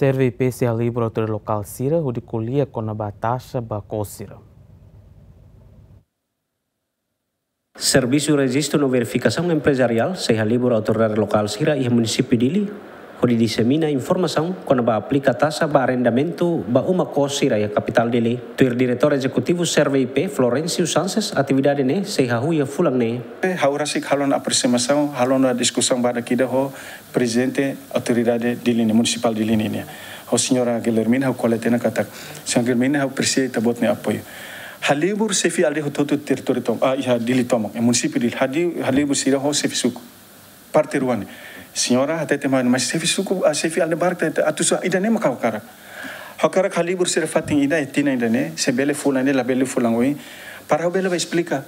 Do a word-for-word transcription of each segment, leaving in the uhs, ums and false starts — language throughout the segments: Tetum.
Serve I P sei halibur autoridade lokál sira hodi ko'alia kona-ba taxa ba kos sira. Servisu Rejistu no Verifikasaun Emprezariál sei halibur autoridade lokál sira iha munisípiu Dili hodi disemina informasaun kona-ba aplika taxa ba arrendamentu ba uma kos sira iha kapitál Dili. Tuir Diretór Ezekutivu Serve I P, Florencio Sanches, atividade ne'e sei hahú iha fulan ne'e. Ha'u rasik halo ona apresiasaun, halo ona diskusaun badak ida ho prezidente autoridade Dili nian, munisipál Dili nian, ho señora Guilhermina, ha'u ko'alia tiha ona katak, señora Guilhermina, ha'u presiza ita-boot nia apoiu. Halibur xefe aldeia hotu-hotu territóriu tomak, ah, iha Dili tomak, iha munisípiu Dili, hadi-, halibur sira ho xefe suku. Parte rua ne'e. Señora hatete mai, mas xefe suku, ah, xefe aldeia barak, hatete, atu sá, ida-ne'e mak ha'u hakarak. Ha'u hakarak halibur sira fatin ida, iha tinan ida-ne'e, se bele fulan ne'e, labele fulan oin. Para ha'u bele bá esplika.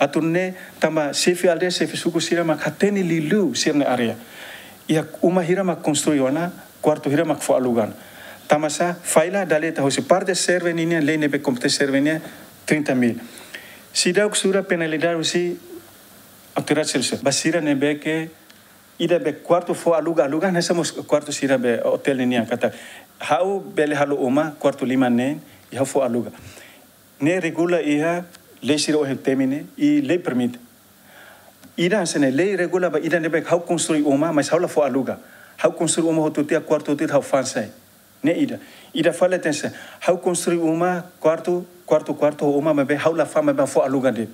Atu nune'e tanba xefe aldeia, xefe suku sira mak hatene liuliu sira-nia área. Iha uma hira mak konstrui ona, kuartu hira mak fó aluga. Tanba sá, fila dala ida husi parte Serve nian, lei ne'ebé kompete Serve nian, trinta mil. Seidauk sura penalidade husi autoridade seluk. Ba sira ne'ebé ke ida be kuartu fó aluga, aluga hanesan mós kuartu sira be otél nian katak, ha'u bele halo uma kuartu lima neen, i ha'u fó aluga. Ne'e regula iha lei sira ohin temi ne'e, i lei permite. Ida hanesan ne'e, lei regula ba ida ne'ebé ha'u konstrui uma, mas ha'u la fó aluga. Ha'u konstrui uma hotu tiha, kuartu hotu tiha, ha'u fa'an sai. Ne'e ida. Ida fali hanesan, ha'u konstrui uma, kuartu, kuartu, kuartu, uma maibé ha'u la fa'an, maibé fó aluga de'it.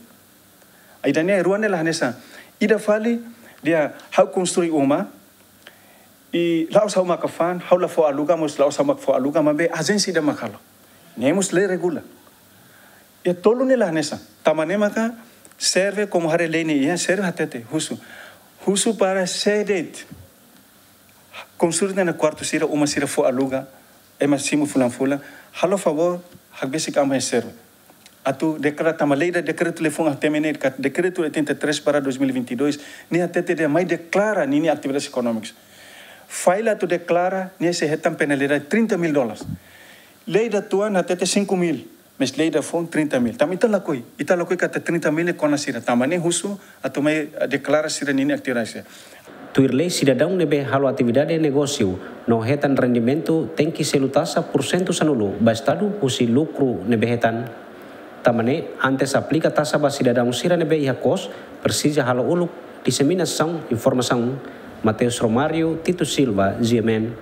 Ida-ne'e, rua ne'e la hanesan. Ida fali, dehan ha'u konstrui uma, i la'ós ha'u mak fa'an, ha'u la fó aluga, mós la'ós ha'u mak fó aluga, maibé ajénsia ida mak halo. Ne'e mós lei regula. Iha tolu ne'e la hanesan. Tanba ne'e maka Serve komu haree lei ne'e iha, Serve hatete, husu. Husu para sé de'it konstrui ona kuartu sira, uma sira fó aluga, ema simu fulan-fulan, halo favór, hakbesik an ba Serve. Atu deklara tanba lei ida, dekretu liafuan ohin temi ne'e, katak dekretu oitenta e três barra dois mil e vinte e dois, ne'e hatete dehan mai deklara ninia atividades ekonómikas. Fila atu deklara, ne'e sei hetan penalidade trinta mil dólares. Lei ida tuan hatete cinco mil, mas lei ida foun trinta mil. Tanba ita lakohi, ita lakohi katak trinta mil ne'e kona sira. Tanba ne'e husu atu mai, eh, deklara sira-ninia atividade. Tuir lei, sidadaun ne'ebé halo atividade negósiu no hetan rendimentu tenke selu taxa pursentu sanulu ba Estadu husi lukru ne'ebé hetan. Tanba ne'e, antes aplika taxa ba sidadaun sira ne'ebé iha kos, presiza halo uluk diseminasaun informasaun. Mateus Romário, Tito Silva, G M N.